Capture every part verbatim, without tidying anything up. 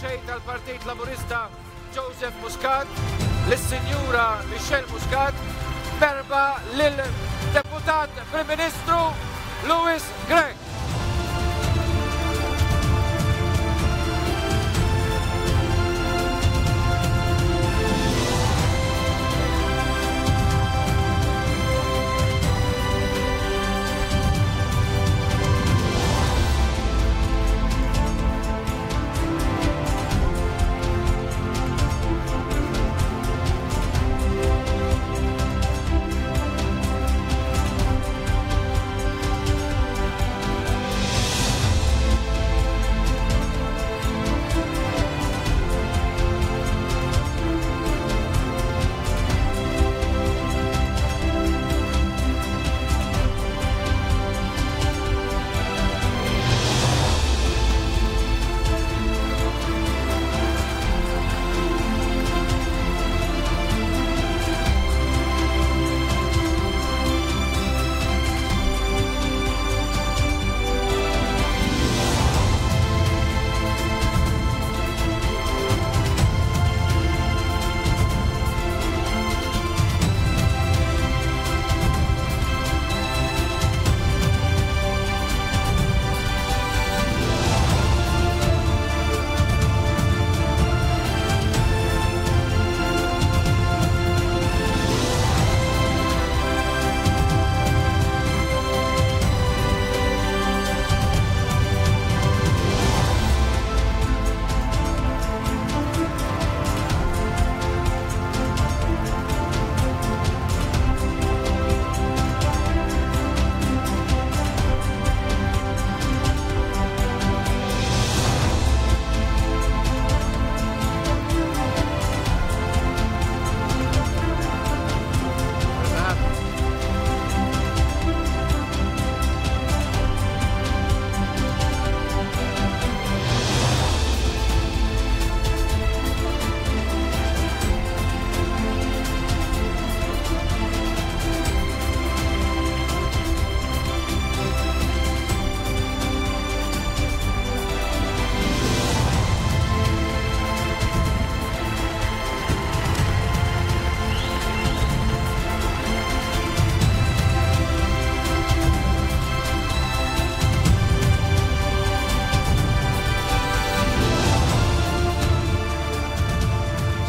Mexxej tal-Partit Laburista Joseph Muscat, lis-Sinjura Michelle Muscat, merħba lil-Deputat Prim Ministru Louis Grech.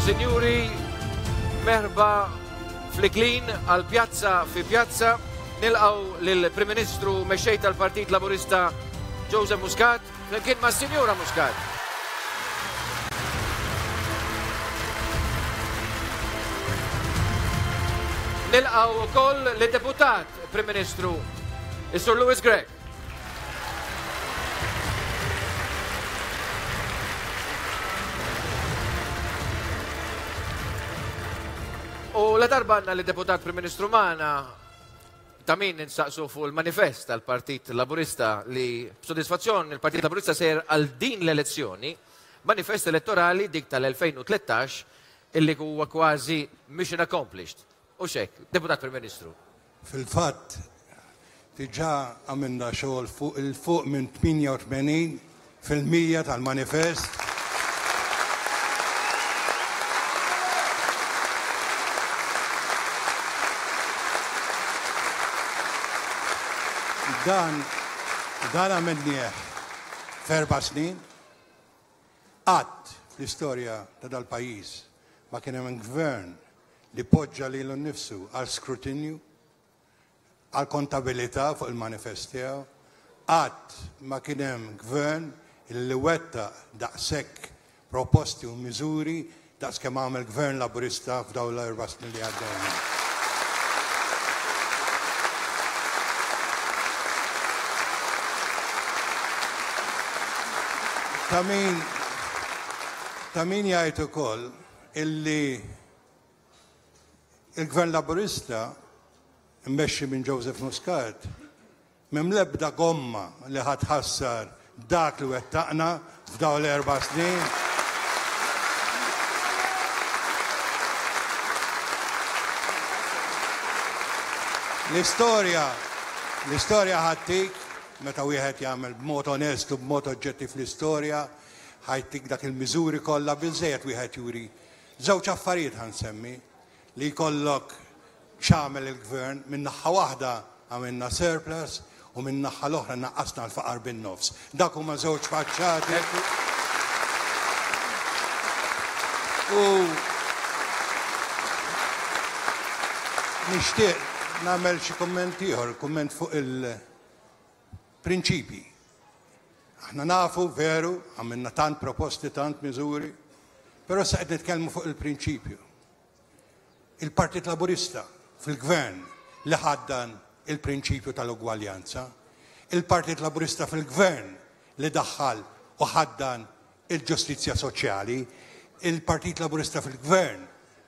Sinjuri, merħba fl-Iklin għal Pjazza fi Pjazza. Nilqgħu lill-Prim Ministru Mexxej tal-Partit Laburista Joseph Muscat flimkien mas-Sinjura Muscat. Nilqgħu wkoll lid-Deputat Prim Ministru is-Sur Louis Grech. U la darba għandna lid-Deputat Prim Ministru magħna, ta' min nistaqsu fuq il-manifest tal-Partit Laburista li b'sodisfazzjon il-Partit Laburista sejjer għal din l-elezzjoni, manifest elettorali dik tal-elfejn u tlettax illi huwa kważi mission accomplished. U xek, Deputat Prim Ministru. Fil-fatt, diġà għamilna xogħol fuq il-fuq minn tmienja u tmenin fil-mija tal-manifest. Dan, dan għamilnieh f'erba' snin. Qatt fl-istorja ta' dal-pajjiż ma kien hemm gvern li poġġa lilu nnifsu għal skrutinju, għal kontabilità fuq il-manifest tiegħu. Qatt ma kien hemm gvern li wettaq daqshekk proposti u miżuri daqs kemm għamel gvern Laburista f'dawn l-erba' snin li għaddew. Ta' min, ta' min jgħid ukoll illi il-Gvern Laburista mmexxi minn Joseph Muscat m'hemm l-ebda gomma li ħatħassar dak li wettaqna f'dawn l-erba' snin. L-istorja, l-istorja ħattik meta wieħed jagħmel b'mod onest u b'mod oġġettiv l-istorja, ħa jtik dak il-miżuri kollha biżejjed wieħed juri. Żewġ affarijiet ħa nsemmi li jkollok x'għamel il-gvern minn naħa waħda għamilna surplus u minn naħa l-oħra naqqasna l-faqar bin-nofs. Dak huma żewġ faċċati. U nixtieq nagħmel xi kumment ieħor, kumment fuq il-prinċipji. Aħna nafu veru, għamilna tant proposti, tant miżuri, però sa qed nitkellmu fuq il-prinċipju. Il-Partit Laburista fil-gvern li ħaddan il-prinċipju tal-ugwaljanza, il-Partit Laburista fil-gvern li daħħal u ħaddan il-ġustizzja soċjali, il-Partit Laburista fil-gvern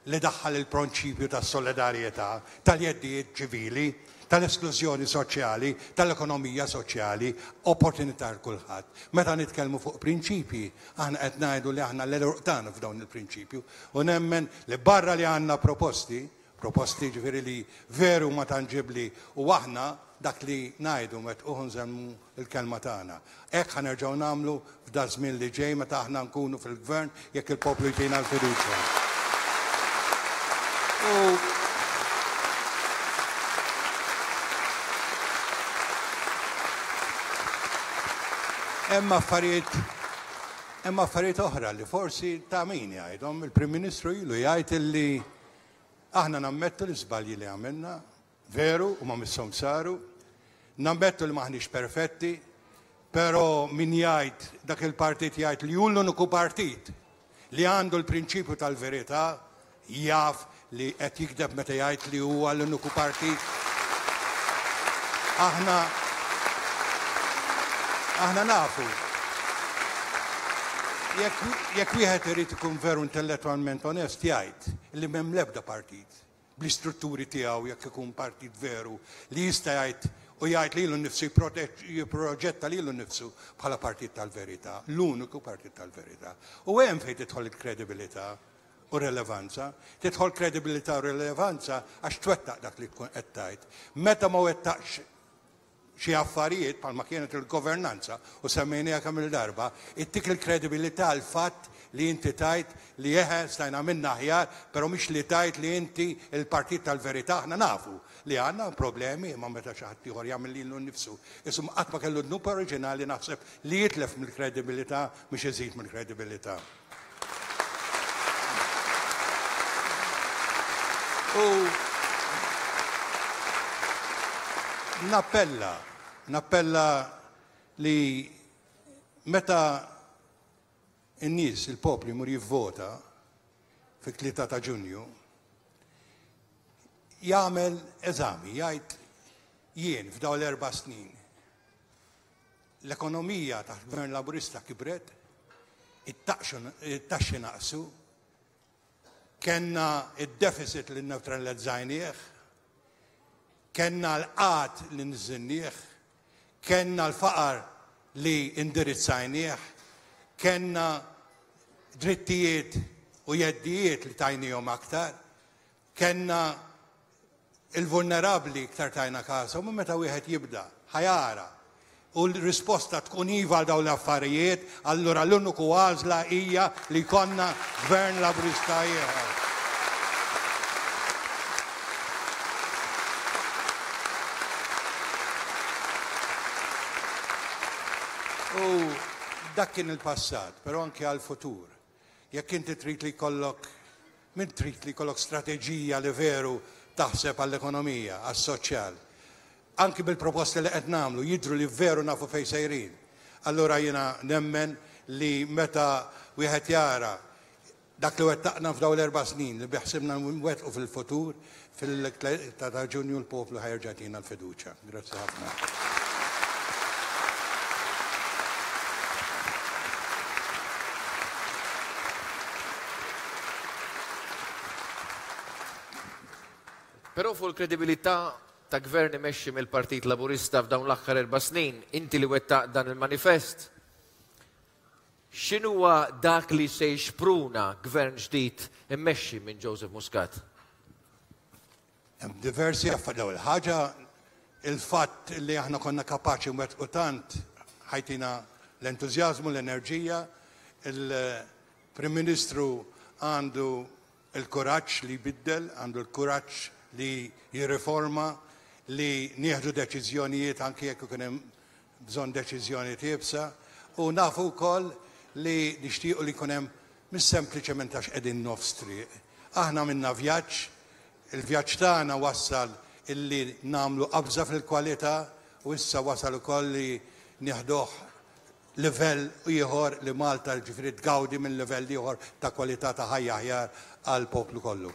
li daħħal il-prinċipju tas-solidarjetà, tal-jeddijiet ċivili, tal-esklużjoni soċjali, tal-ekonomija soċjali, opportunità għal kulħadd. Meta nitkellmu fuq prinċipji, aħna qed ngħidu li aħna l-għeruq tagħna f'dawn il-prinċipju u nemmen li barra li għandna proposti, proposti ġifieri li veru ma tanġibli u aħna dak li ngħidu meta uħu nżemmu l-kelma tagħna. Hekk ħa nerġgħu nagħmlu f'da żmien li ġej meta aħna nkunu fil-gvern jekk il-poplu jtina l-fiduċja. U hemm affarijiet, hemm affarijiet oħra li forsi ta' min jgħidhom, il-Prim Ministru ilu jgħid illi aħna nammettu l-iżbalji li għamilna, veru u ma misshom saru, nammettu li maħniex perfetti, però min jgħid dak il-partit jgħid li hu l-uniku partit li għandu l-prinċipju tal-verità jaf li qed jikdeb meta jgħid li huwa l-uniku partit. Aħna aħna nafu. Jekk, jekk wieħed irid ikun veru intellettwalment onest jgħid li m'hemm l-ebda partit bl-istrutturi tiegħu jekk ikun partit veru li jista' jgħid u jgħid lilu nnifsu jipproġetta lilu nnifsu bħala partit tal-verità, l-uniku partit tal-verità. U hemm fejn tidħol il-kredibilità u relevanza, tidħol kredibilità u relevanza għax twettaq dak li tkun qed tgħid. Meta ma wettaqx xi affarijiet bħalma kienet il-governanza u semmejniha kemm il-darba, ittik il-kredibilità l-fatt li inti tajt li eħe stajna minna aħjar, però mhix li tajt li inti il-partit tal-verità. Aħna nafu li għandna problemi imma meta xi ħadd ieħor jagħmel lilu nnifsu. Isum qatt ma kellu dnub oriġinali naħseb li jitlef mill-kredibilità mhux iżid mill-kredibilità. U nappella, nappella li meta n-nies, il-poplu jmur jivvota fit-tlieta ta' Ġunju, jagħmel eżami, jgħid jien f'dawn l-erba' snin l-ekonomija taħt Gvern Laburista kibret, it-taxxi naqsu, kellna id-deficit li nnewtralizzajnieh, kellna l-qgħad li nżinnieh, kellna l-faqar li indirizzajnieh, kellna drittijiet u jeddijiet li tajnihom aktar, kellna il-vulnerabbli iktar tajna każhom, u meta wieħed jibda ħajara u l-risposta tkun iva għal dawn l-affarijiet, allura l-uniku għażla hija li jkollna Gvern Laburista ieħor. U dak kien il-passat, però anke għal-futur. Jekk inti trid li jkollok, min trid li jkollok strateġija li veru taħseb għall-ekonomija, għas-soċjal, anki bil-proposti li qed nagħmlu jidhru li veru nafu fejn sejrin. Allura jiena nemmen li meta wieħed jara dak li wettaqna f'dawn l-erba' snin li biħsibna nwettqu fil-futur, fil-tlieta ta' Ġunju l-poplu ħajerġa' jtina l-fiduċja. Grazzi ħafna. Però fuq il-kredibilità ta' gvern imexxi mill-Partit Laburista f'dawn l-aħħar erba' snin, inti li wettaq dan il-manifest, x'inhuwa dak li se jixpruna gvern ġdid immexxi minn Joseph Muscat? Hemm diversi affarijiet. L-ewwel ħaġa, il-fatt li aħna konna kapaċi nwettqu tant ħajtina l-entużjażmu, l-enerġija, Il-Prim Ministru għandu il-kuraġġ li jbiddel, għandu l-kuraġġ li jirriforma, li nieħdu deċiżjonijiet anke jekk ikun hemm bżonn deċiżjoni iebsa, u nafu wkoll li nixtiequ li jkun hemm mhux sempliċement għax qegħdin nofs triq. Aħna minna vjaġġ, il-vjaġġ tagħna wassal illi nagħmlu qabża fil-kwalità u issa wasal ukoll li nieħduh livell ieħor li Malta ġifieri tgawdi minn livell ieħor ta' kwalità ta' ħajja aħjar għall poplu kollu.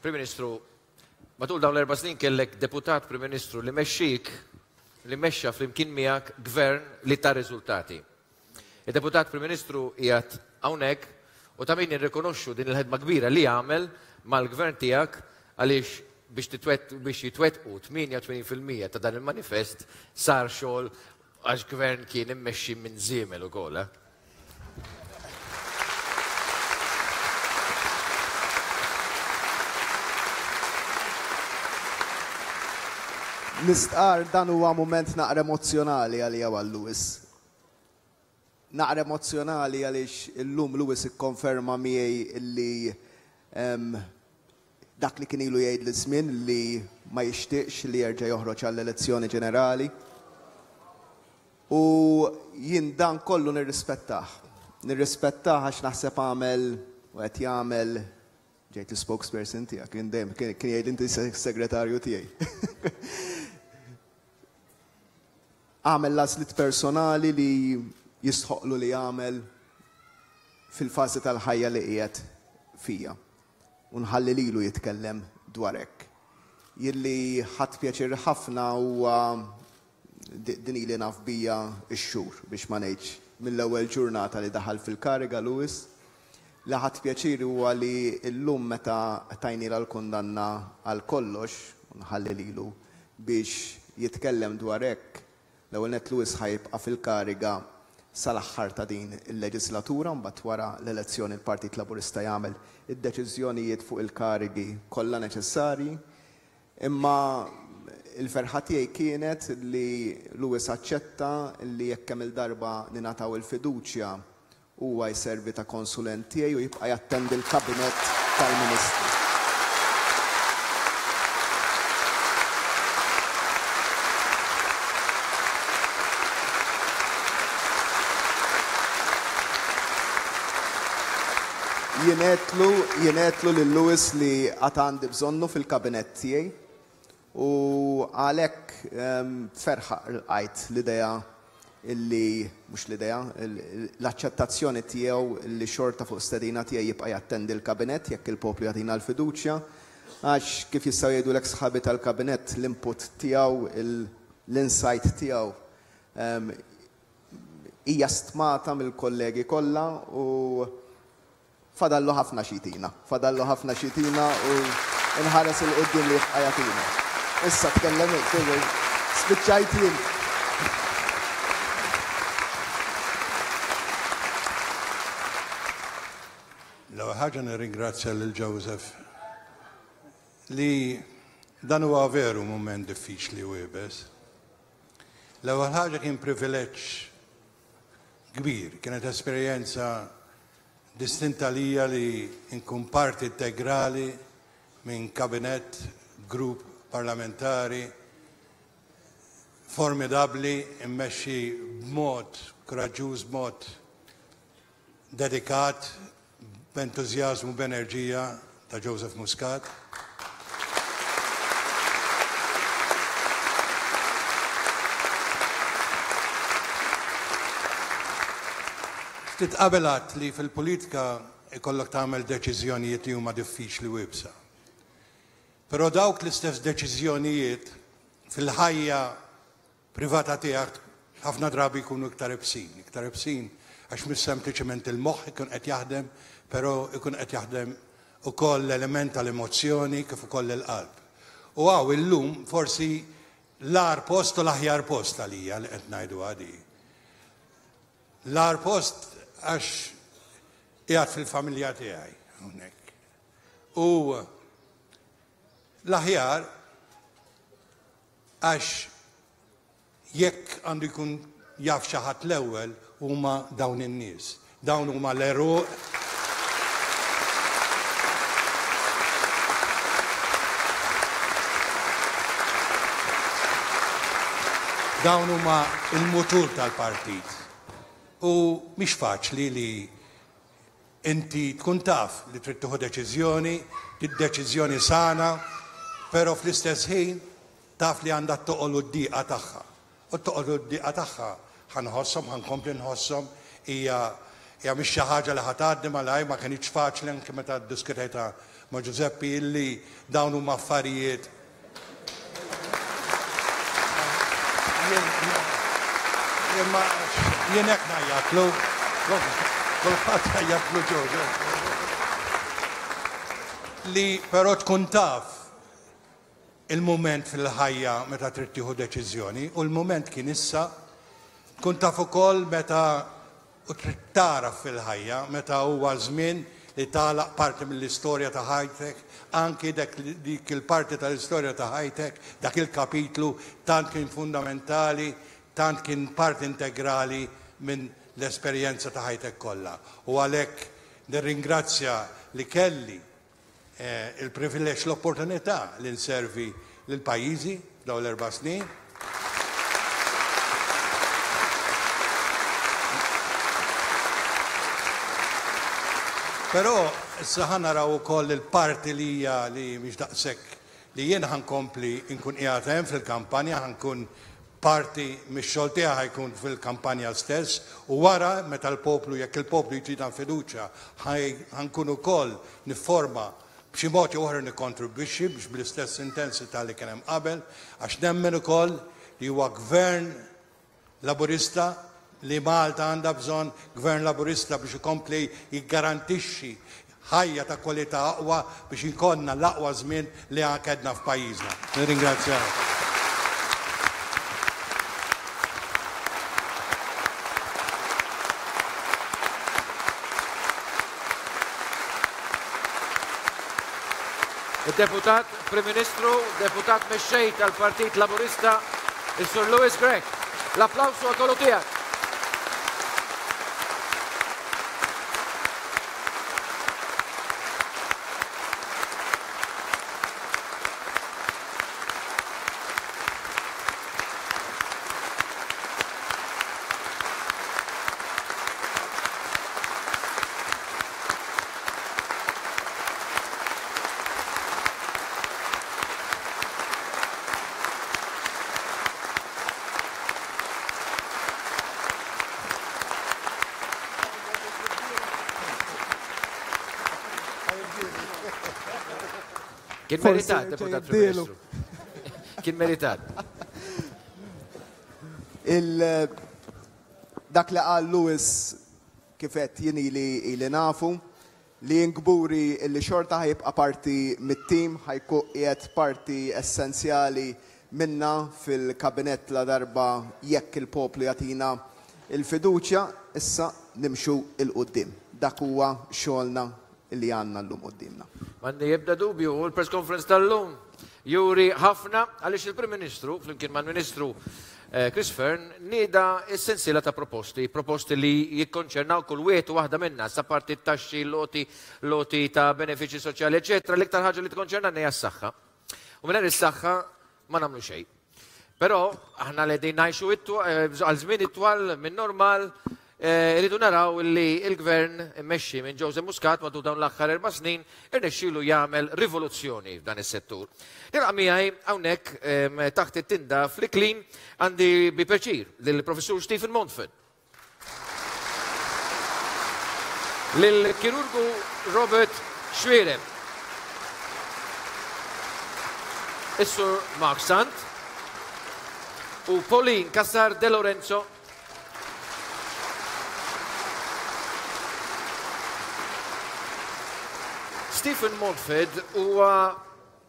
Prim Ministru, matul dawn l-erba' snin kellek deputat Prim Ministru li mexxik, li mexxa flimkien miegħek gvern li ta' riżultati. Il-deputat Prim Ministru qiegħed hawnhekk u ta' min nirrikonoxxu din il-ħidma kbira li għamel mal-gvern tiegħek għaliex biex titwet, biex jitwettqu tmienja u tmenin fil-mija ta' dan il-manifest sar xogħol għax gvern kien immexxi minn żiemel ukoll. Eh? Nistqar dan huwa mument naqra emozzjonali għalija għal Louis. Naqra emozzjonali għaliex illum Louis ikkonferma miegħi illi, em, dak li kien ilu jgħid li żmien li ma jixtieqx li jerġa' joħroġ għall-elezzjoni ġenerali. U jien dan kollu nirrispettah. Nirrispettah għax naħseb għamel u qed jagħmel ġejt il-spokesperson tiegħek, kien dejjem kien jgħid inti segretarju tiegħi. Għamel l-għażliet personali li jistħoqlu li jagħmel fil-fażi tal-ħajja li qiegħed fija. U nħalli lilu jitkellem dwar hekk. Jilli ħadd pjaċir ħafna huwa din ili naf bija x-xhur biex ma ngħidx mill-ewwel ġurnata li daħal fil-kariga Louis. Li ħadd pjaċir huwa li llum meta tajnila l-kundanna għal kollox, nħalli lilu biex jitkellem dwar hekk, l-ewwel nett Louis ħajbqa' fil-kariga sal-aħħar ta' din il-leġislatura, mbagħad wara l-elezzjoni l-Partit Laburista jagħmel id-deċiżjonijiet fuq il-karigi kollha neċessarji. Imma il-ferħa tiegħi kienet li Louis aċċetta li jekk kemm il-darba ningħataw il-fiduċja huwa jservi ta' konsulent tiegħi u jibqa' jattendi l-kabinett tal-Ministri. Jienetlu, jienetlu lil Louis li għad għandi bżonnu fil-kabinett tiegħi u għalhekk, ehm, ferħa lqajt l-idea illi, mhux l-idea, l-aċċettazzjoni tiegħu li xorta fuq stedina tiegħi jibqa' jattendi l-kabinett jekk il-poplu jagħtina l-fiduċja, għax kif jistgħu jgħidulek sħabi tal-kabinett l-input tiegħu, l-insight tiegħu, ehm, hija stmata mill-kollegi kollha u fadallu ħafna xitina, fadallu ħafna xitina u nħares il-qudiem li jibqa' jagħtina. Issa tkellem spiċċajt jien. L-ewwel ħaġa nirringrazzja lil Joseph li dan huwa veru mument diffiċli u iebes. L-ewwel ħaġa kien privileġġ kbir, kienet esperjenza distinta lija li nkun parti integrali minn kabinett, grupp parlamentari formidabli, immexxi b'mod kuraġġuż, b'mod dedikat, b'entużjażmu, b'enerġija ta' Joseph Muscat. Ftit qabel għedt li fil-politika ikollok tagħmel deċiżjonijiet li huma diffiċli u iebsa. Però dawk l-istess deċiżjonijiet fil-ħajja privata tiegħek ħafna drabi jkunu iktar ibsin, iktar ibsin għax mhux sempliċement il-moħħ ikun qed jaħdem, però ikun qed jaħdem ukoll l-element tal-emozzjoni kif ukoll il-qalb. U hawn illum forsi l-agħar post u l-aħjar post għalija li qed ngħidu għadi. L-agħar post għax qiegħed fil-familja tiegħi hawnhekk. U L-aħjar għax jekk għandu jkun jaf xi ħadd l-ewwel huma dawn in-nies. Dawn huma l-għeruq. Dawn huma l-mutur tal-partit. U mhix faċli li inti tkun taf li trid tieħu deċiżjoni, deċiżjoni sana, però fl-istess ħin taf li għandha toqol u d-diqa tagħha. U toqol u d-diqa tagħha ħa nħosshom, ħa nkompli nħosshom, hija hija mhix xi ħaġa li ħa tgħaddi malajr, ma kinitx faċli anke meta ddiskutejtha ma' Giuseppe illi dawn huma affarijiet. Jien hekk ngħajjatlu, kulħadd ngħajjatlu Ġorġ. Li però tkun taf il-mument fil-ħajja meta trid tieħu deċiżjoni, u l-mument kien issa, tkun taf ukoll meta u trid taraf fil-ħajja meta huwa żmien li tagħlaq parti mill-istorja ta' ħajtek, anki dik il-parti tal-istorja ta' ħajtek, dak il-kapitlu tant kien fundamentali, tant kien parti integrali minn l-esperjenza ta' ħajtek kollha. U għalhekk nirringrazzja li kelli il-privileġġ, l-opportunità li nservi lil pajjiżi dawn l-erba' snin. Però issa ħa naraw ukoll il-parti li hija li mhix daqshekk li jien ħa nkompli nkun qiegħed hemm fil-kampanja, ħa nkun parti mix-xogħol tiegħi ħa jkun fil-kampanja stess, u wara meta l-poplu, jekk il-poplu jtina fiduċja, ħa nkun ukoll nifforma b'xi mod jew oħra nikkontribwixxi biex bl-istess intensità li kien hemm qabel, għax nemmen ukoll li huwa gvern Laburista li Malta għandha bżonn, gvern Laburista biex ikompli jiggarantixxi ħajja ta' kwalità aqwa biex ikollna l-aqwa żmien li għakedna f'pajjiżna. Nirringrazzjaw. Il-Deputat Prim Ministru, Deputat Mexxej tal-Partit Laburista, il-Sur Louis Grech. L-applawsu għal kollu tiegħek. Kien meritat, Deputat Prim Ministru. Kien meritat. Dak li qal Louis kif qed jien ili ili nafu li nkburi li xorta ħa jibqa' parti mit-tim, ħa jkun qiegħed parti essenzjali minna fil-kabinett la darba jekk il-poplu jagħtina il-fiduċja, issa nimxu 'l quddiem. Dak huwa xogħolna li għandna llum quddiemna. M'għandi ebda dubju, u l-press conference tal-lum juri ħafna għaliex il-Prim Ministru, flimkien mal-Ministru Chris Fearne, nieda s-sensiela ta' proposti, proposti li jikkonċernaw kull wieħed u waħda minna, sa parti taxxi, loti, loti ta' benefiċi soċjali, eċetera. L-iktar ħaġa li tkonċerna hija s-saħħa. U mingħajr is-saħħa ma nagħmlu xejn. Però aħna li qegħdin ngħixu għal żmien itwal minn normal, irridu naraw li l-gvern immexxi minn Joseph Muscat matul dawn l-aħħar erba' snin irnexxielu jagħmel rivoluzzjoni f'dan is-settur. Nilqa' miegħi hawnhekk taħt it-tinda fl-Iklin għandi bi pjaċir lill-Professur Stephen Montfort, lill-kirurgu Robert Xuereb, is-Sur Mark Sant u Pauline Cassar De Lorenzo. Stephen Montfort huwa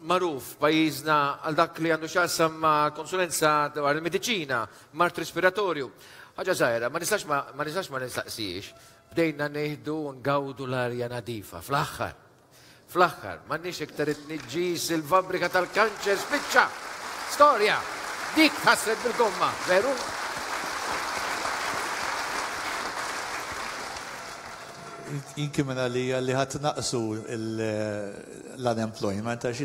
magħruf pajjiżna għal dak li għandu x'jaqsam ma' konsulenza dwar il-mediċina, mard respiratorju. Ħaġa żgħira, ma nistax ma, ma nistax ma nistaqsijiex. Bdejna nieħdu u ngawdu l-arja nadifa fl-aħħar. Fl-aħħar, m'għandniex iktar it-tniġġis, il-fabbrika tal-kanċer spiċċa. Storja, dik ħasret bil-gomma, veru? Jinki minn għalija li ħat naqsu l-unemployment, għax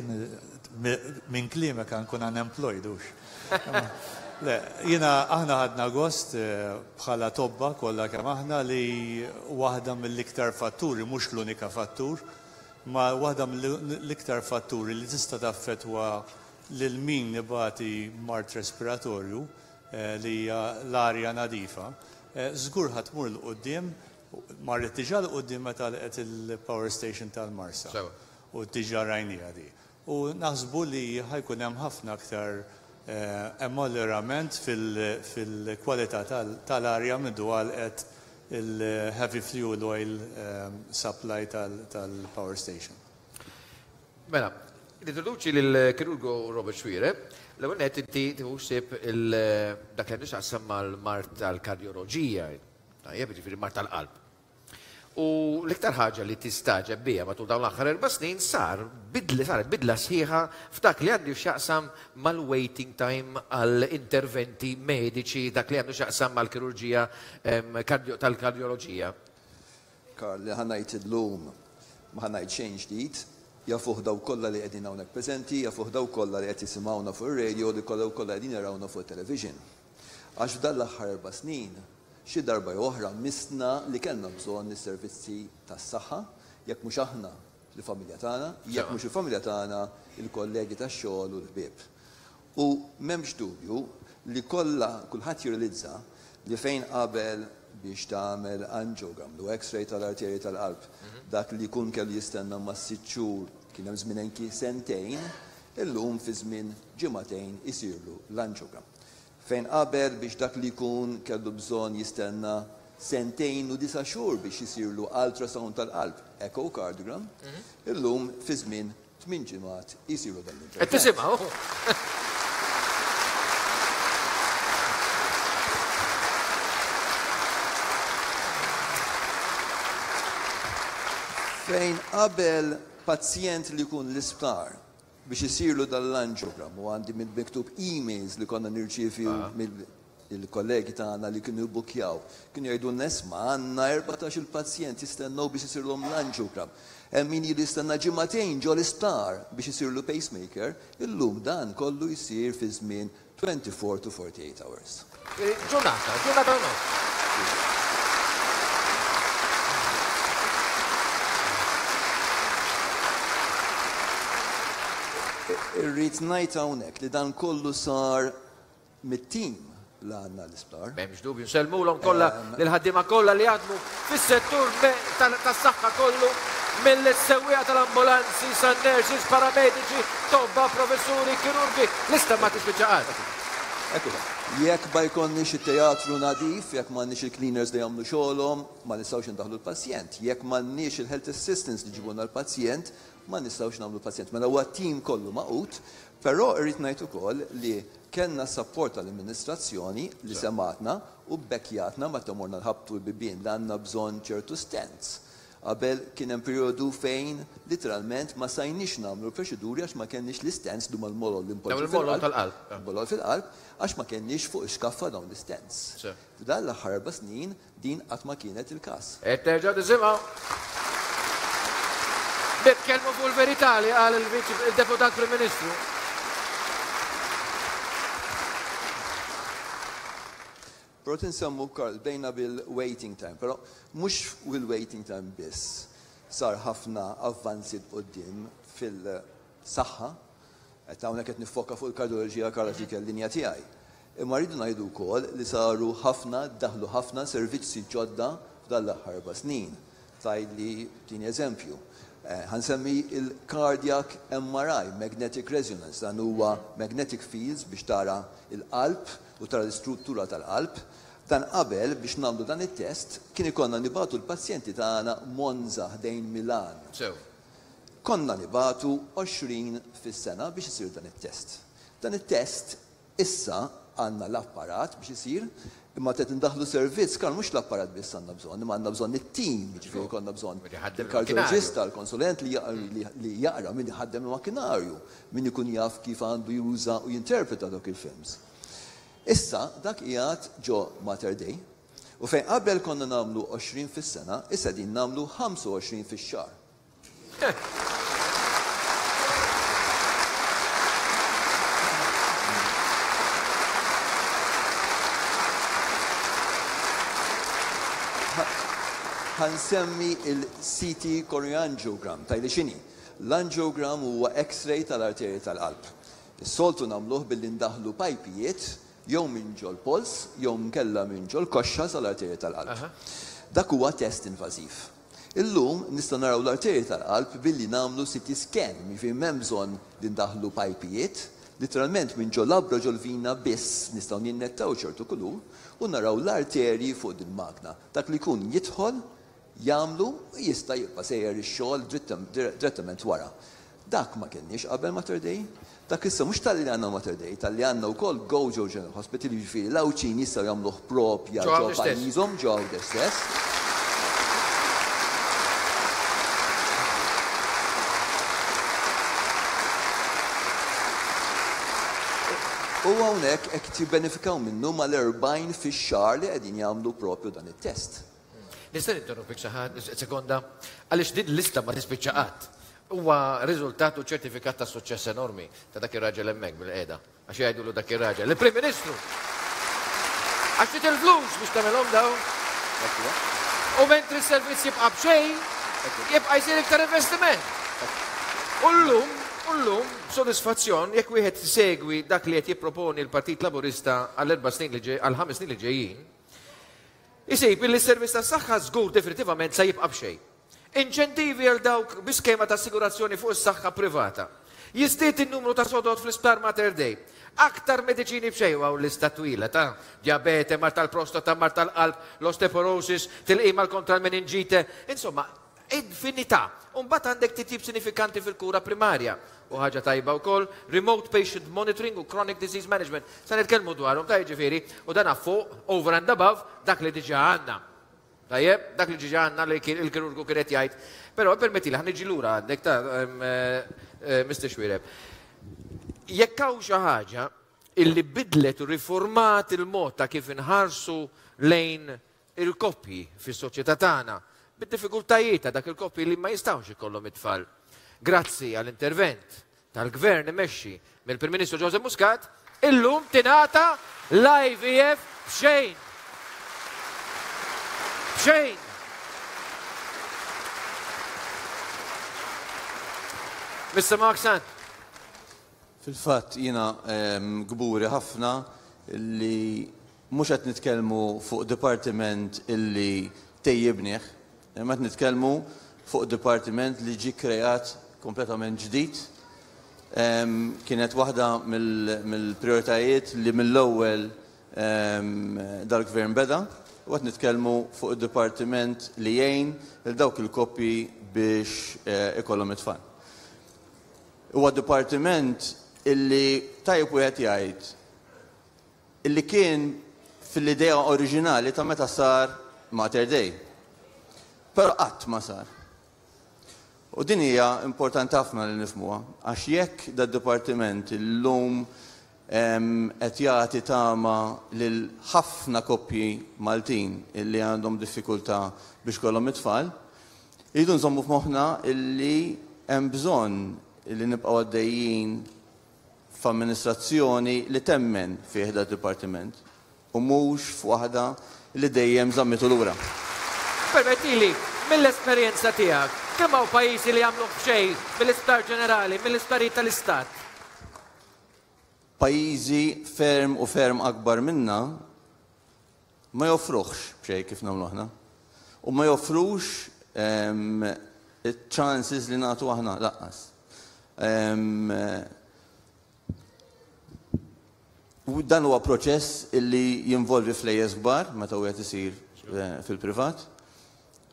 minn klimek għankun unemployed, ux. Le, jina aħna ħadna gost bħala tobba kollha kemm aħna li waħda mill-iktar fatturi, mhux l-unika fattur, ma waħda mill-iktar fatturi li tista' taffettwa lil min nibati mard respiratorju li hija l-arja nadifa, żgur ħadd tmur 'l quddiem, marret diġà 'l quddiem meta laqgħet il-power station tal-Marsa. U diġà rajniha di. U naħsbu li ħajkun hemm ħafna aktar ammollerament fil-kwalità tal-arja mindu għalqet il-heavy fuel oil supply tal-power station. Mela, nintroduċi lill-kirurgu Robert Xuereb, l-ewwel nett inti tieħu ħsieb dak li għandu x'jaqsam mal-mard tal-kardjoloġija, tajjeb, jiġifieri mard tal-qalb. U l-iktar ħaġa li tistagħġeb biha matul dawn l-aħħar erba' snin sar bidli, saret bidla sħiħa f'dak li għandu x'jaqsam mal-waiting time għal interventi mediċi, dak li għandu x'jaqsam mal-kirurġija tal-kardjoloġija. Karl, li ħa ngħid illum ma ħa ngħid xejn ġdid, jafuh daw kollha li qegħdin hawnhekk preżenti, jafuh daw kollha li qed jisimgħuna fuq ir-radio, li kollha kollha qegħdin jarawna fuq it-television. Għax f'dan l-aħħar erba' snin, xi darba jew oħra misna li kellna bżonn is-servizzi tas-saħħa, jekk mhux aħna l-familja tagħna, jekk mhux il-familja tagħna, il-kollegi tax-xogħol u l-ħbieb. U m'hemmx dubju li kollha kulħadd jirrealizza li fejn qabel biex tagħmel angiogram, lu x-ray tal-arterji tal-qalb, dak li jkun kellu jistenna ma' sitt xhur, kien hemm żmien anki sentejn, illum fi żmien ġimagħtejn isirlu l-angiogram. Fejn qabel biex dak li jkun kellu bżonn jistenna sentejn u disa' xhur biex isirlu ultrasound tal-qalb, echocardiogram, illum fi żmien tmien ġimgħat isiru dan l-intervent. Qed tisimgħu? Fejn qabel pazjent li jkun l-isptar biex isirlu dal-angiogram, u għandi mill-miktub emails li konna nirċievi mill-kollegi tagħna li kienu jibbukjaw, kienu jgħidu nesma' għandna erbatax il-pazjent jistennew biex isirlhom l-angiogram. Hemm min ilu jistenna ġimagħtejn ġo l-isptar biex isirlu pacemaker, illum dan kollu jsir fi żmien twenty-four to forty-eight hours. Ġurnata, ġurnata u nofs. Irrid ngħid hawnhekk li dan kollu sar mit-tim li għandna l-isptar. M'hemmx dubju, nsellmulhom kollha lil-ħaddiema kollha li jaħdmu fis-settur tas-saħħa kollu, mill-sewwieqa tal-ambulanzi, san-nurses, paramediċi, tobba, professuri, kirurgi, lista ma tispiċċa qatt. Ekku, jekk ma jkollniex it-teatru nadif, jekk m'għandniex il-cleaners li jagħmlu xogħolhom, ma nistgħux indaħlu l-pazjent. Jekk m'għandniex il-health assistants li ġibulna l-pazjent, ma nistgħux nagħmlu pazjent. Mela huwa tim kollu maqut, però irrid ngħid ukoll li kellna support tal-amministrazzjoni li sematna u bekkjatna meta morna nħabtu l-bibien li għandna bżonn ċertu stents. Qabel kien hemm perjodu fejn literalment ma sajniex nagħmlu proċeduri għax ma kenniex l-istents duma l-molol li npoġġu Dawn il-molol fil-qalb. tal-qalb. Molol fil-qalb għax ma kenniex fuq ix-xkaffa dawn l-istents. Sew. F'dan l-aħħar erba' snin din qatt ma kienet il-każ. Qed terġa' tisimgħu. Nitkellmu fuq il-verità li qal il-Viċi il-Deputat Prim Ministru. Però tinsemmu, Karl, bejna bil-waiting time, però mhux bil-waiting time biss sar ħafna avvanzi quddiem fil-saħħa, qed hawnhekk qed nifoka fuq il-kardioloġija, Karl, dik il-linja tiegħi. Imma rridu ngħidu wkoll li saru ħafna, daħlu ħafna servizzi ġodda f'dan l-aħħar erba' snin. Tgħidli tini eżempju. Eh, ħansemmi il-cardiac M R I, magnetic resonance, dan huwa magnetic fields biex tara il-qalb u tara l-istruttura tal-qalb. Dan qabel biex nagħmlu dan it-test kien ikollna nibatu l-pazjenti tagħna Monza ħdejn Milan. Sew. Konna nibatu għoxrin fis-sena biex isir dan it-test. Dan it-test issa għandna l-apparat biex isir, Imma qed indaħlu servizz, kan mhux l-apparat biss għandna bżonn, imma għandna bżonn it-tim, jiġifieri konna bżonn il-kardjoloġista, l-konsulent li jaqra, min iħaddem il-makkinarju, min ikun jaf kif għandu juża u jinterpreta dawk il-films. Issa dak qiegħed ġo Mater Dei, u fejn qabel konna nagħmlu għoxrin fis-sena, issa din nagħmlu ħamsa u għoxrin fix-xahar. Ħansemmi il-C T coronary angiogram, tajli x'inhi? L-angiogram huwa X-ray tal-arterji tal-qalb. Is-soltu nagħmluh billi ndaħlu pajpijiet jew minn ġol pols jew nkella minn ġol koxxa sal-arterji tal-qalb. Dak huwa test invażiv. Illum nistgħu naraw l-arterji tal-qalb billi nagħmlu C T scan, jiġifieri m'hemm bżonn li ndaħlu pajpijiet, literalment minn ġol labra ġol vina biss nistgħu ninnettaw ċertu kulur u naraw l-arterji fuq din magna. Dak li jkun jidħol jagħmlu u jista' jibqa' sejjer ix-xogħol direttament wara. Dak ma kenniex qabel Mater Dei, dak issa mhux talli għandna Mater Dei, talli għandna wkoll Gozo General Hospital, jiġifieri l-Għawdxin jistgħu jagħmluh propja Ġo ġo Għawdex stess. pajjiżhom, ġo Għawdex stess. U hawnhekk hekk jibbenefikaw minnu mal-erbgħin fix-xahar li qegħdin jagħmlu propju dan it-test. Nista' ninterrompik xi ħadd, sekonda, għaliex din l-lista ma tispiċċa qatt. Huwa riżultat u ċertifikat ta' suċċess enormi ta' dak ir-raġel hemmhekk bil-qiegħda. Għax jgħidulu dak ir-raġel, il-Prim Ministru. Għax trid il-flus biex tagħmelhom dawn. U mentri s-servizz jibqa' b'xejn, jibqa' jsir iktar investiment. U llum, u llum, b'sodisfazzjon, jekk wieħed segwi dak li qed jipproponi l-Partit Laburista għall-erba' snin li ġej, għall-ħames snin li ġejjin, isib li s-servizz tas-saħħa żgur definitivament se jibqa' b'xejn. Inċentivi għal dawk bi skema ta' assigurazzjoni fuq is-saħħa privata. Jiżdied in-numru ta' sodod fl-isptar Mater Dei. Aktar mediċini b'xejn u lista twila ta' diabete, mar tal-prostata, mar tal-qalb, l-osteoporosis, tilqima kontra l-meningite, insomma, infinità. U mbagħad għandek titjib sinifikanti fil-kura primarja. U ħaġa tajba wkoll, remote patient monitoring u chronic disease management. Sa nitkellmu dwarhom ta' jiġifieri, u dan fuq, over and above, dak li diġà għandna. Tajjeb, dak li diġà għandna li kien il-kirurgu kien qed jgħid. Però permetti li ħa niġi lura għandek ta' em, eh, eh, Mister Xuereb. Jekk hawn xi ħaġa illi bidlet u riformat il-mod ta' kif inħarsu lejn il-koppji fis-soċjetà tagħna, bid-diffikultajiet ta' dak il-koppji li ma jistgħux ikollhom it-tfal. Grazzi għall-intervent tal-gvern imexxi mill-Prim Ministru Joseph Muscat, illum tingħata l-I V F b'xejn. B'xejn. Mister Mark Sant. Fil-fatt jiena, ehm, kburi ħafna li mhux qed nitkellmu fuq dipartiment illi tejjibnieh, imma qed nitkellmu fuq dipartiment li ġie kreat kompletament ġdid. Ehm, kienet waħda mill-, mill-prioritajiet li mill-ewwel, ehm, dal-gvern beda, u qed nitkellmu fuq id-dipartiment li jgħin lil dawk il-koppji biex, eh, ikollhom it-tfal. Huwa dipartiment illi tajjeb wieħed jgħid illi kien fil-idea oriġinali ta' meta sar Mater Dei. Però qatt ma sar. U din hija importanti ħafna li nifhmuha, għax jekk dad-dipartiment illum, em, qed jagħti tama lil ħafna koppji Maltin illi għandhom diffikultà biex kollhom it-tfal, irridu nżommu f'moħħna illi hemm bżonn illi nibqgħu għaddejjin f'amministrazzjoni li temmen fih dad-dipartiment u mhux f'waħda li dejjem żammitu lura. Permettili, mill-esperjenza tiegħek, kemm hawn pajjiżi li jagħmlu b'xejn mill-Isptar Ġenerali, mill-isptarijiet tal-Istat? Pajjiżi ferm u ferm akbar minna ma joffruhx b'xejn kif nagħmlu aħna. U ma joffrux, ehm, il-chances li nagħtu aħna lanqas. Ehm, u dan huwa proċess illi jinvolvi flejjes kbar meta wieħed isir, eh, fil-privat.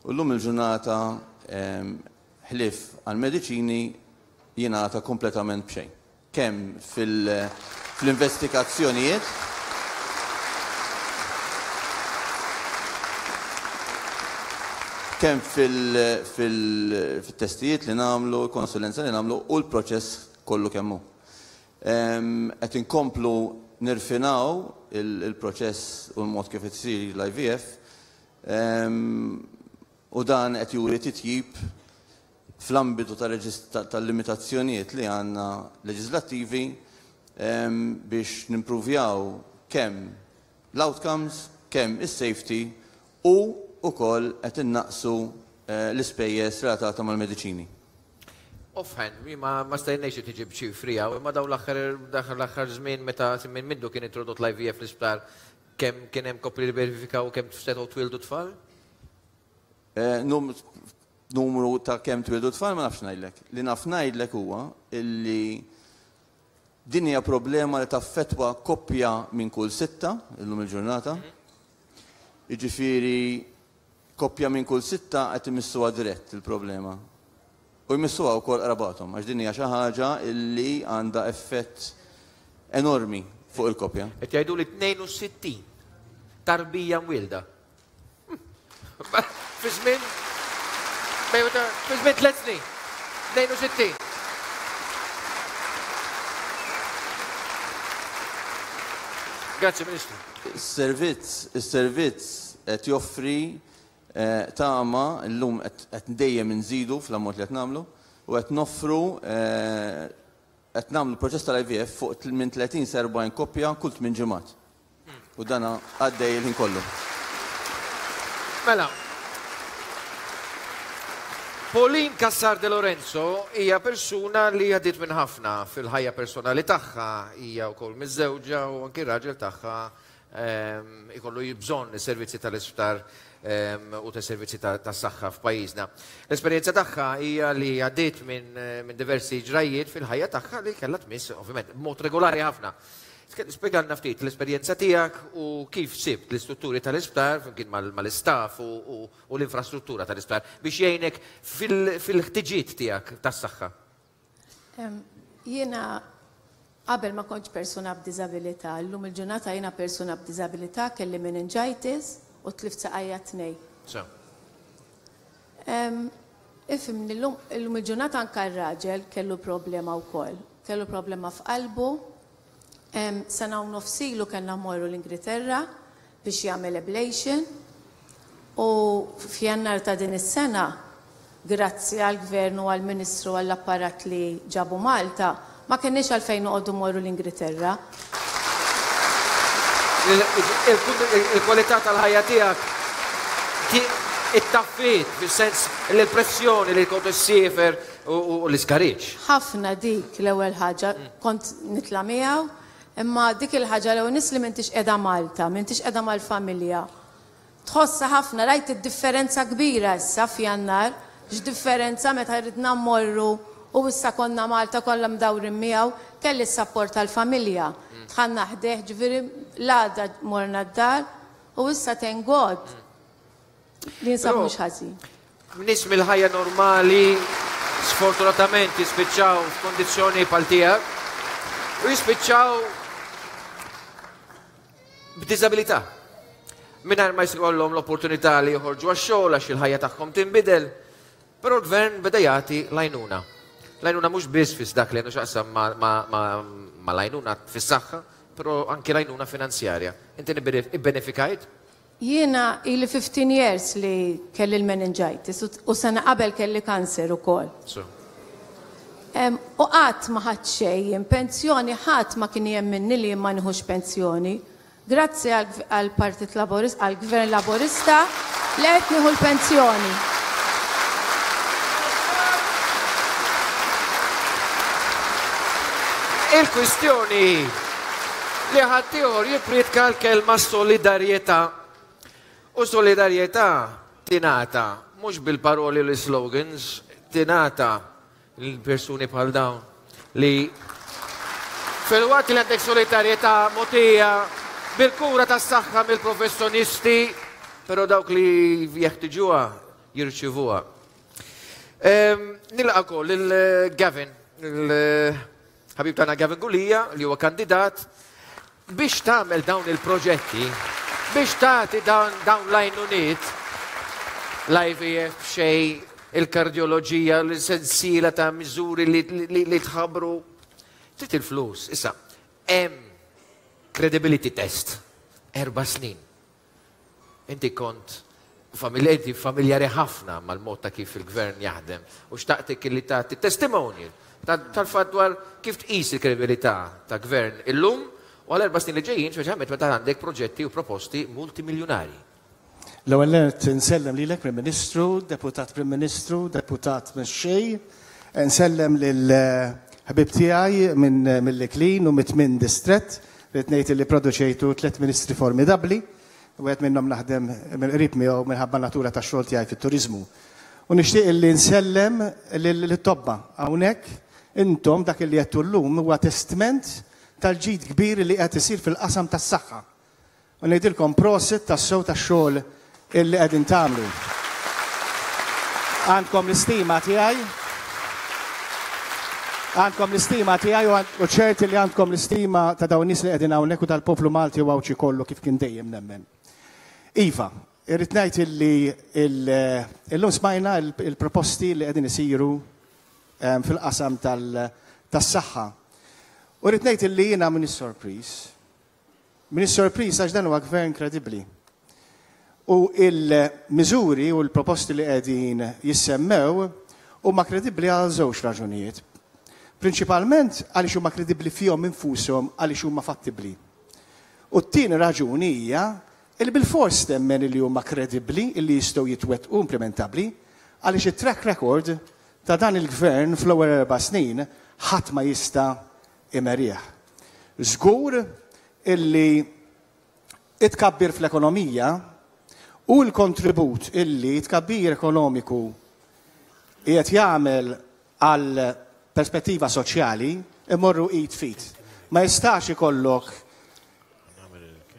U llum il-ġurnata, ehm, ħlief għal-mediċini jingħata kompletament b'xejn. Kemm fil-, fl-investigazzjonijiet, Kemm fil-testijiet li nagħmlu, konsulenza li nagħmlu u l-proċess kollu kemm hu. Qed inkomplu nirfinaw il-proċess u l-mod kif isir l-I V F u dan qed juri titjib fl-ambitu tal-limitazzjonijiet li għandna leġislattivi biex nimpruvjaw kemm l-outcomes, kemm is-safety u ukoll qed innaqsu l-ispejjeż relatata mal-mediċini. Offhand, ma ma stajniex tiġi b'ċifri hawn, imma dawn l-aħħar żmien meta minn mindu kien introdott l-I V F l-isptar, kemm kien hemm koppli li verifikaw kemm setgħu twildu tfal? Numru ta' kemm twildu tfal ma nafx ngħidlek. Li naf ngħidlek huwa illi din hija problema li taffettwa koppja minn kull sitta illum il-ġurnata. Jiġifieri koppja minn kull sitta qed imissuha dirett il-problema. U jmissuha wkoll qrabathom, għax din hija xi ħaġa illi għandha effett enormi fuq il-koppja. Qed jgħidu li tnejn u sittin tarbija mwielda. Fi żmien fi żmien tliet snin, tnejn u sittin. Grazie, Ministru. Is-servizz, is-servizz qed joffri tama llum qed dejjem inżidu fl-ammont li qed nagħmlu u qed noffru qed nagħmlu proċess tal-I V F fuq minn tletin sa erbgħin koppja kull tmien ġimgħat. U dana għaddej il-ħin kollu. Mela, Pauline Cassar De Lorenzo hija persuna li għaddiet minn ħafna fil-ħajja personali tagħha, hija wkoll miżżewġa u anki r-raġel tagħha ikollu bżonn is-servizzi tal-isptar u tas-servizzi tas-saħħa f'pajjiżna. L-esperjenza tagħha hija li għaddiet minn diversi ġrajiet fil-ħajja tagħha li kellha tmiss ovvjament b'mod regolari ħafna. Spjegalna ftit l-esperjenza tiegħek u kif sibt l-istrutturi tal-isptar flimkien mal-istaff u l-infrastruttura tal-isptar biex jgħinek fil-ħtiġijiet tiegħek tas-saħħa. Jiena qabel ma kontx persuna b'diżabilità, llum il-ġurnata jiena persuna b'diżabilità, kelli meningitis u tlift saqajja tnej. Ifhimni, llum il-ġurnata anke r-raġel kellu problema wkoll, kellu problema f'qalbu. Sena u nofs ilu kellna mmorru l-Ingilterra biex jagħmel ablation u f'Jannar ta' din is-sena, grazzi għall-Gvern u għall-Ministru għall-apparat li ġabu Malta, ma kenniex għalfejn noqogħdu mmorru l-Ingilterra. Il-kwalità tal-ħajja tiegħek it-taffiet, fis-sens li l-pressjoni li kont issiefer u l-iskariġġ. Ħafna dik l-ewwel ħaġa, kont nitla' miegħu, imma dik il-ħaġa l-ewwel nies li m'intix qiegħda Malta, m'intix qiegħda mal-familja. Tħossha ħafna, rajt id-differenza kbira issa f'Jannar, x'differenza meta ridna mmorru u issa konna Malta kollha mdawrin miegħu, kelli s-sapport tal-familja. Dħalna ħdejh, ġifieri l-għada morna d-dar u issa thank God li nsab mhux ħażin. Nies mill-ħajja normali sfortunatament jispiċċaw f'kondizzjoni bħal tiegħek u jispiċċaw b'diżabilità. Mingħajr ma jkollhom l-opportunità li joħorġu għax-xogħol għax il-ħajja tagħhom tinbidel, però l-gvern beda jagħti l-għajnuna. L-għajnuna mhux biss fis dak li għandu x'jaqsam ma' l-għajnuna fis-saħħa, però anki l-għajnuna finanzjarja. Inti ibbenefikajt? Jiena ili fifteen years li kelli l-meningitis u sena qabel kelli kanser ukoll. U qatt ma ħadt xejn, pensjoni ħadd ma kien jemminni li ma nieħux pensjoni. Grazzi għall-Partit Laburista, għall-Gvern Laburista li qed nieħu l-pensjoni. Il-kwistjoni li ħaddieħor jippriedka l-kelma solidarjetà. U solidarjetà tingħata mhux bil-paroli u l-slogans, tingħata l-persuni bħal dawn li fil-waqt li għandek solidarjetà mogħtija bil-kura tas-saħħa mill-professjonisti, però dawk li jeħtiġuha jirċivuha. Nilqa' wkoll il-Gavin, il-ħabib tagħna Gavin Gulia, li huwa kandidat biex tagħmel dawn il-proġetti, biex tagħti dawn l-għajnuniet, L-I V F b'xejn, il-kardjoloġija, l-sensiela ta' miżuri li tħabbru. Trid il-flus. Issa, hemm credibility test. Erba' snin. Inti kont familjari, familjari ħafna mal-mod ta' kif il-gvern jaħdem u xtaqtek li tagħti testimonial tal-fatt dwar kif tqis il-kredibilità ta' gvern illum u għal erba' snin li ġejjin, speċjalment meta għandek proġetti u proposti multimiljonari. L-ewwel nett insellem lilek Prim Ministru, Deputat Prim Ministru, Deputat Mexxej, nsellem lil ħbib tiegħi minn mill-Iklin u mit-tmien distrett, rrid ngħid li produċejtu tliet ministri formidabbli, wieħed minnhom naħdem mill-qrib miegħu minħabba natura tax-xogħol tiegħi fit-turiżmu. U nixtieq li nsellem lit-tobba hawnhekk intom dak li qed llum huwa testment tal-ġid kbir li qed isir fil-qasam tas-saħħa. U ngħidilkom prosit tas-sew tax-xogħol illi qegħdin tagħmlu. Għandkom l-istima tiegħi. Għandkom l-istima tiegħi u ċerti li għandkom l-istima ta' dawn nies li qegħdin hawnhekk u tal-poplu Malti u Għawdxi kollu kif kien dejjem nemmen. Iva, irrid ngħid illi illum smajna il-proposti li qegħdin isiru fil-qasam tas-saħħa. U rrid ngħid illi jiena m'iniex sorpriż. M'iniex sorpriż għax dan huwa gvern kredibbli. U il-miżuri u l-proposti li qegħdin jissemmew huma kredibbli għal żewġ raġunijiet. Prinċipalment għaliex huma kredibbli fihom infushom għaliex huma fattibbli. U t-tieni raġuni hija li bilfors temmen li huma kredibbli li jistgħu jitwettqu implementabbli għaliex it-track record ta' dan il-gvern fl-ewwel erba' snin ħadd ma jista' imerih. Żgur illi it-tkabbir fl-ekonomija u l-kontribut illi tkabbir ekonomiku qiegħed jagħmel għal perspettiva soċjali imorru id fit. Ma jistax ikollok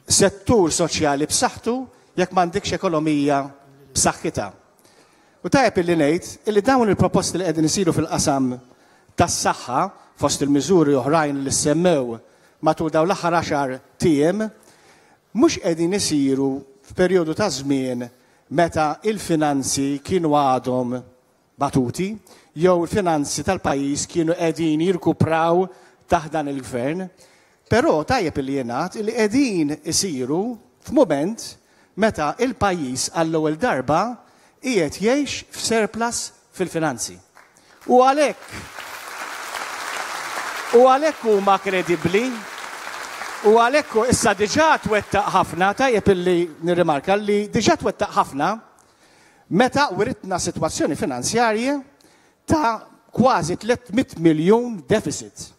settur soċjali b'saħħtu jekk m'għandekx ekonomija b'saħħitha. U tajjeb illi ngħid illi dawn il-proposti li qegħdin isiru fil-qasam tas-saħħa fost il-miżuri oħrajn li semmew matul dawn l-aħħar għaxar tiem mhux qegħdin isiru f'perjodu ta' żmien meta il-finanzi kienu għadhom batuti jew il-finanzi tal-pajjiż kienu qegħdin jirkupraw taħt dan il-gvern. Però tajjeb li jingħad li qegħdin isiru f'mument meta il-pajjiż għall-ewwel darba qiegħed jgħix f'surplus fil-finanzi. U għalhekk u għalhekk huma kredibbli u għalhekk issa diġà twettaq ħafna, tajjeb illi nirrimarka li diġà twettaq ħafna meta wiritna sitwazzjoni finanzjarja ta' kważi tliet mitt miljun deficit.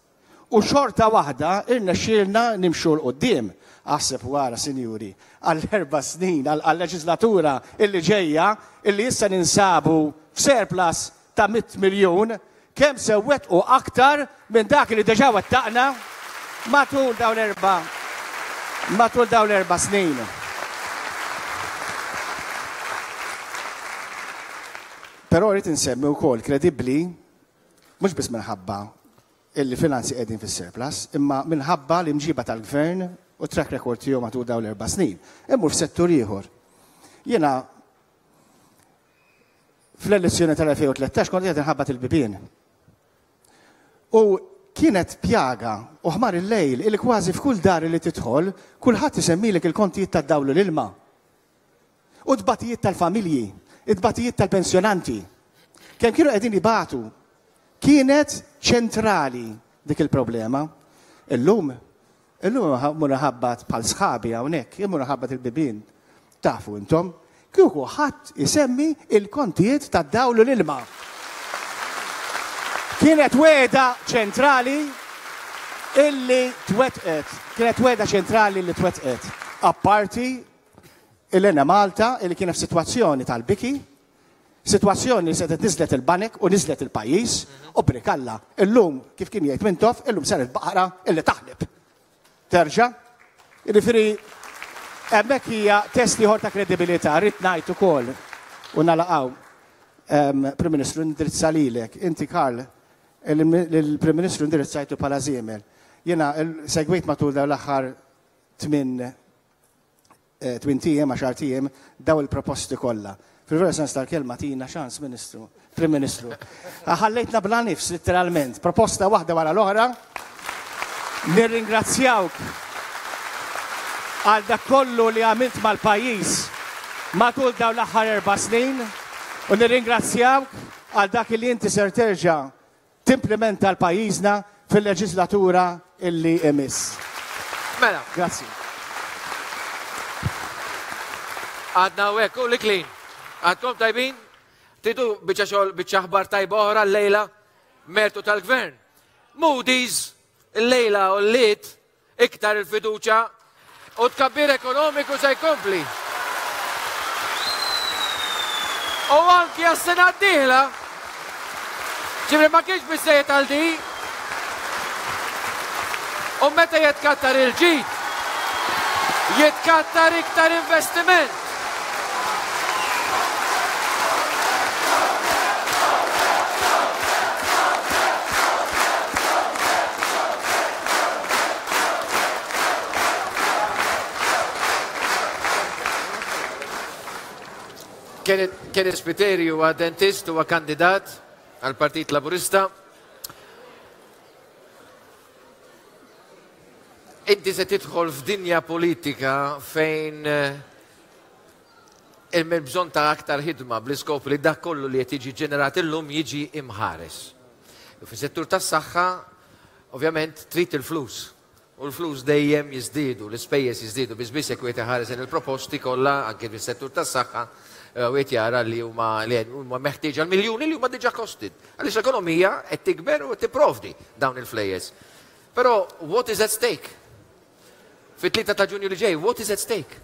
U xorta waħda irnexxielna nimxu 'l quddiem. Aħseb wara, sinjuri, għall-erba' snin, għall-leġislatura illi ġejja, illi issa ninsabu f'surplus ta' mitt miljun, kemm se wettqu aktar minn dak li diġà wettaqna matul dawn erba' matul dawn erba' snin. Però rrid insemmi wkoll kredibbli mhux biss minħabba illi finanzi qegħdin fis-surplus, imma minħabba l-imġiba tal-gvern u track record tiegħu matul dawn l-erba' snin. Immur f'settur ieħor. Jiena fl-elezzjoni tal-elfejn u tlettax kont qiegħed inħabbat il-bibien. U kienet pjaga u ħmar il-lejl illi kważi f'kull dar li tidħol kulħadd isemmilek il-kontijiet tad-dawl u l-ilma. U t-tbatijiet tal-familji, it-tbatijiet tal-pensjonanti. Kemm kienu qegħdin ibatu, kienet ċentrali dik il-problema. Illum, illum mur ħabbat bħal sħabi hawnhekk, immur ħabbat il-bibien. Tafu intom, kieku ħadd isemmi il-kontijiet tad-dawl u l-ilma. Kienet wegħda ċentrali illi twettqet. Kienet wegħda ċentrali illi twettqet. Apparti il-Enemalta illi kienet f'sitwazzjoni tal-biki, sitwazzjoni li setgħet niżlet il-banek u niżlet il-pajjiż, u brikalla. Illum, kif kien jgħid Mintoff, illum saret baqra illi taħleb. Terġa', jiġifieri hemmhekk hija test ieħor ta' kredibilità, rrid ngħid ukoll u nalaqgħu. Prim Ministru, indirizza lilek, inti Karl, il-Prim Ministru indirizzajtu bħala żiemel. Jiena segwejt matul dawn l-aħħar tmien tmien tiem, għaxar tiem, daw il-proposti kollha. Fil-vera sens tal-kelma tina ċans, Ministru, Prim Ministru. Ħallejtna bla nifs, literalment, proposta waħda wara l-oħra. Nirringrazzjawk għal dak kollu li għamilt mal-pajjiż matul dawn l-aħħar erba' snin u nirringrazzjawk għal dak li inti ser terġa' timplementa l-pajjiżna fil-leġislatura illi imiss. Mela. Grazzi. Għadna u hekk, u l-iklin. Għadkom tajbin? Tridu biċċa xogħol, biċċa aħbar tajba oħra llejla, mertu tal-gvern. Moody's illejla u l-lit iktar il-fiduċa u tkabbir ekonomiku se jkompli. U anki għas-sena d-dieħla, ġifri ma kienx biżejjed għal di. U meta jitkattar il-ġid, jitkattar iktar investiment. Kenneth Spiteri huwa dentist, huwa kandidat għal Partit Laburista. Inti se tidħol f'dinja politika fejn hemm bżonn ta' aktar ħidma bl-iskop li dak kollu li qed jiġi ġenerat illum jiġi imħares. Fis-settur tas-saħħa, ovvjament, trid il-flus. U l-flus dejjem jiżdiedu, l-ispejjeż jiżdiedu, biss biss jekk wieħed iħares il-proposti kollha anke fis-settur tas-saħħa u qed jara li huma li huma meħtieġa l-miljuni li huma diġà costed. Għaliex l-ekonomija qed tikber u qed tipprovdi dawn il-flejjes. Però what is at stake? Fit-tlieta ta' Ġunju li ġej, what is at stake?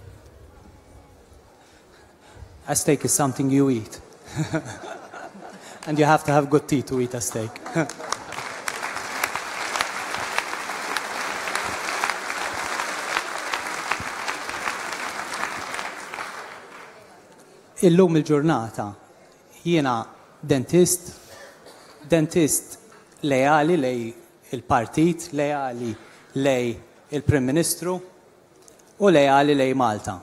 A steak is something you eat. And you have to have good teeth to eat a steak. Illum il-ġurnata jiena dentist, dentist leali lej il-partit, leali lej il-Prim Ministru u leali lej Malta.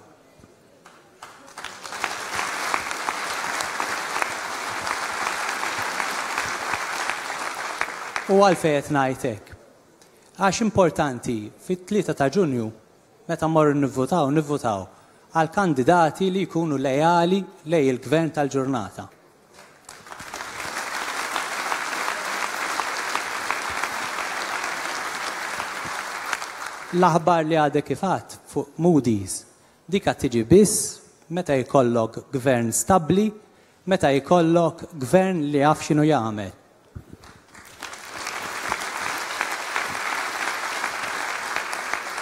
U għalfejn qed ngħid hekk? Għax importanti fit-tlieta ta' Ġunju meta mmorru nivvutaw, nivvutaw għal kandidati li jkunu lejali lej il-gvern tal-ġurnata. L-aħbar li għadek kif għadt fuq Moody's, dik qed tiġi biss meta jkollok gvern stabbli, meta jkollok gvern li jaf x'inhu jagħmel.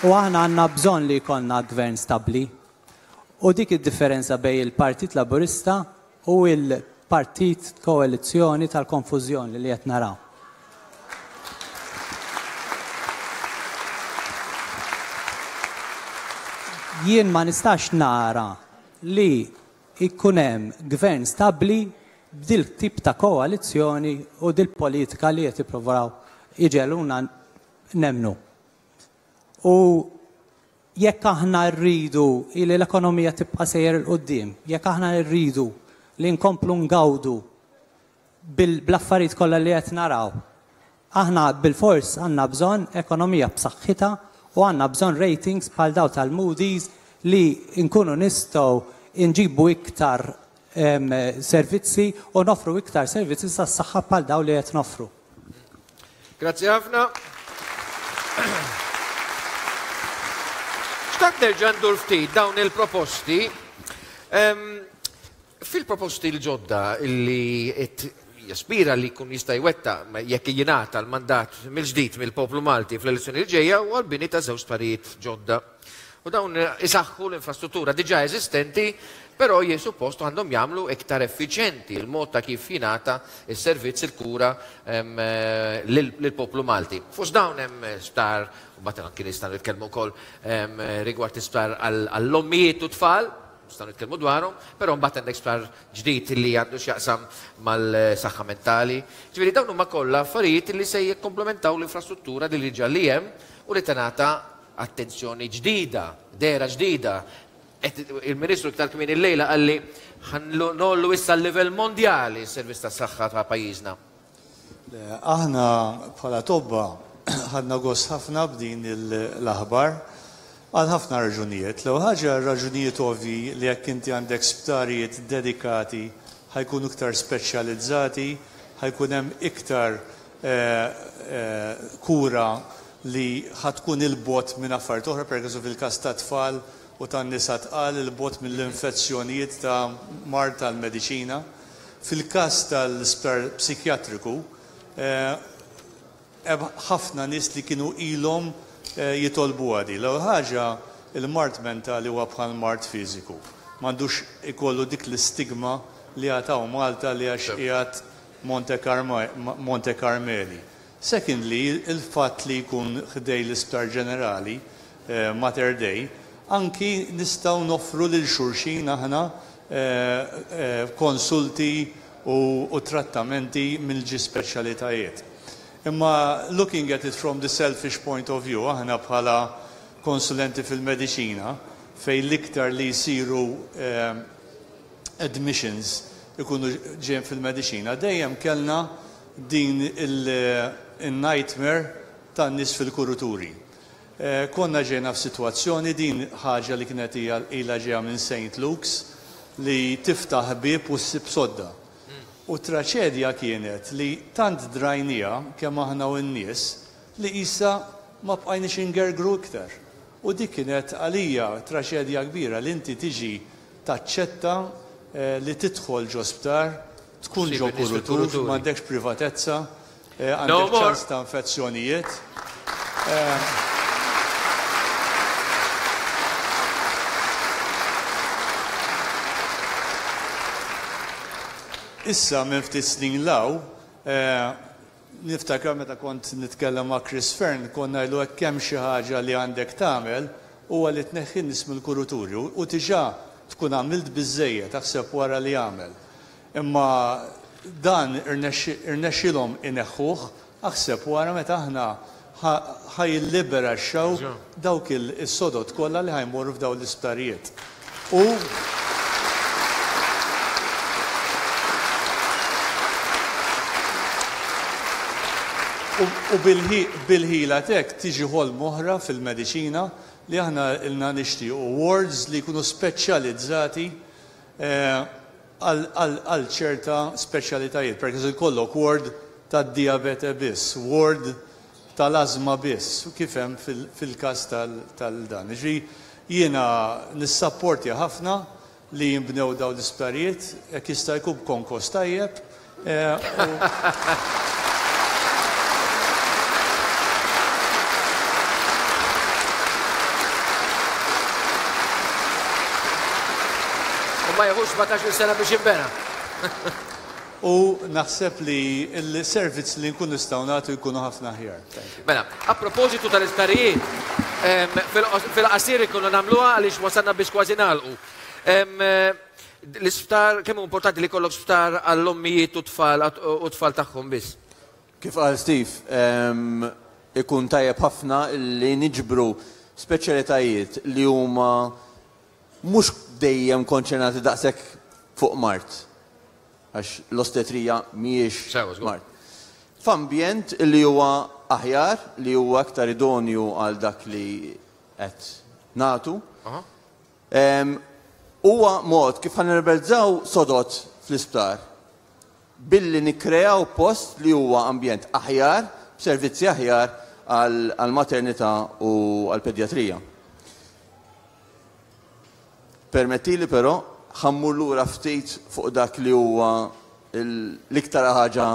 U aħna għandna bżonn li jkollna gvern stabbli. U dik id-differenza bejn il-Partit Laburista u il-Partit Koalizzjoni tal-Konfużjoni li qed naraw. Jien ma nistax nara li jkun hemm gvern stabbli b'dil tip ta' koalizzjoni u dil politika li qed jippruvaw iġeluna nemnu. U jekk aħna rridu li l-ekonomija tibqa' sejjer 'il quddiem, jekk aħna rridu li nkomplu ngawdu bl-affarijiet kollha li qed naraw, aħna bil-fors għandna bżonn ekonomija b'saħħitha u għandna bżonn ratings bħal daw tal-Moody's li nkunu nistgħu nġibu iktar servizzi u nofru iktar servizzi tas-saħħa bħal daw li qed nofru. Grazzi ħafna. Xtaqt nerġa' ndur ftit dawn il-proposti. Fil-proposti l-ġodda li qed jaspira li jkun jista' jwettaq jekk jingħata l-mandat mill-ġdid mill-poplu Malti fl-elezzjoni li ġejja huwa l-bini ta' żewġ sptarijiet ġodda. U dawn isaħħu l-infrastruttura diġà eżistenti, però jien suppost għandhom jagħmlu iktar effiċjenti il-mod ta' kif jingħata s-servizz il-kura lill-poplu Malti. Fost dawn hemm sptar, u mbagħad anki nistgħu nitkellmu wkoll rigward isptar għall-ommijiet u tfal, nistgħu nitkellmu dwarhom, però mbagħad għandek sptar ġdid li għandu x'jaqsam mal-saħħa mentali. Ġifieri dawn huma kollha affarijiet li se jikkomplementaw l-infrastruttura li diġà li hemm u li tingħata attenzjoni ġdida, dehra ġdida, Il-Ministru iktar kmieni illejla qalli ħa ngħollu issa l-livell mondjali s-servizz tas-saħħa ta' pajjiżna. Aħna bħala tobba ħadna gost ħafna b'din l-aħbar għal ħafna raġunijiet. L-ewwel ħaġa, raġunijiet ovvi li jekk inti għandek sptarijiet dedikati ħa jkunu iktar speċjalizzati, ħa jkun hemm iktar kura li ħa tkun 'il bogħod minn affarijiet oħra, per eżempju fil-każ ta' tfal u tan-nisa tqal, 'il bogħod mill-infezzjonijiet ta' mard tal-mediċina. Fil-każ tal-isptar psikjatriku, hemm ħafna nies li kienu ilhom jitolbu għadi. L-ewwel ħaġa, il-mard mentali huwa bħal mard fiżiku. M'għandux ikollu dik l-istigma li għataw Malta li għax qiegħed Monte Carmeli. Secondly, il-fatt li jkun ħdejn l-isptar ġenerali, Mater Dei, anki nistgħu noffru lil xulxin aħna konsulti u trattamenti mill-ġi speċjalitajiet. Imma looking at it from the selfish point of view, aħna bħala konsulenti fil-mediċina, fej l-iktar li jisiru admissions ikunu ġejjin fil-mediċina, dejjem kellna din il-nightmare tan-nies fil-kuruturi. Konna ġejna f'sitwazzjoni, din ħaġa li kienet ilha ġejja minn Saint Luke's, li tiftaħ bieb u ssib sodda. U traċedja kienet li tant drajnija kemm aħna u n-nies li issa ma bqajniex ingergru iktar. U dik kienet għalija traċedja kbira li inti tiġi taċċetta li tidħol ġo sptar, tkun ġo kurutur, m'għandekx privatezza, għandek ċans ta' infezzjonijiet. Issa minn ftit snin law, niftakar meta kont nitkellem ma' Chris Fearne, konna ngħidu hekk hemm xi ħaġa li għandek tagħmel huwa li tneħħi nies mill-kuruturi u diġà tkun għamilt biżejjed taħseb wara li għamel. Imma dan irnexxilhom ineħħuh, aħseb wara meta aħna ħa jilliberaxxaw dawk is-sodod kollha li ħa jmorru f'dawn l-isptarijiet. U U bil-ħila tek tiġi ħolm oħra fil-mediċina li aħna ilna nixtiequ wards li jkunu speċjalizzati għal ċerta speċjalitajiet. Per eżempju, jkollok ward tad-diabete biss, ward tal-azma biss, u kif hemm fil-każ tal-dan. Ġifieri jiena nissapporti ħafna li jinbnew dawn l-isptarijiet, jekk jista' jkun b'konkos tajjeb. Ma jeħux sbatax-il sena biex jinbena. U naħseb li l-servizz li nkun nistgħu nagħtu jkunu ħafna aħjar. Mela, a propositu tal-isptarijiet, fil-qasir ikunu nagħmluha għaliex wasalna biex kważi nagħlqu. L-isptar, kemm hu importanti li jkollok sptar għall-ommijiet u tfal u tfal tagħhom biss? Kif qal Steve, ikun tajjeb ħafna li niġbru speċjalitajiet li huma mhux dejjem konċernati daqshekk fuq mard, għax l-ostetrija mhijiex mard. F'ambjent li huwa aħjar, li huwa aktar idonju għal dak li qed nagħtu. Huwa mod kif ħa nirrealizzaw sodot fl-isptar billi nikkreaw post li huwa ambjent aħjar, b'servizzi aħjar għall-maternità u għall-pedjatrija. Permettili però ħammur lura ftit fuq dak li huwa l-iktar ħaġa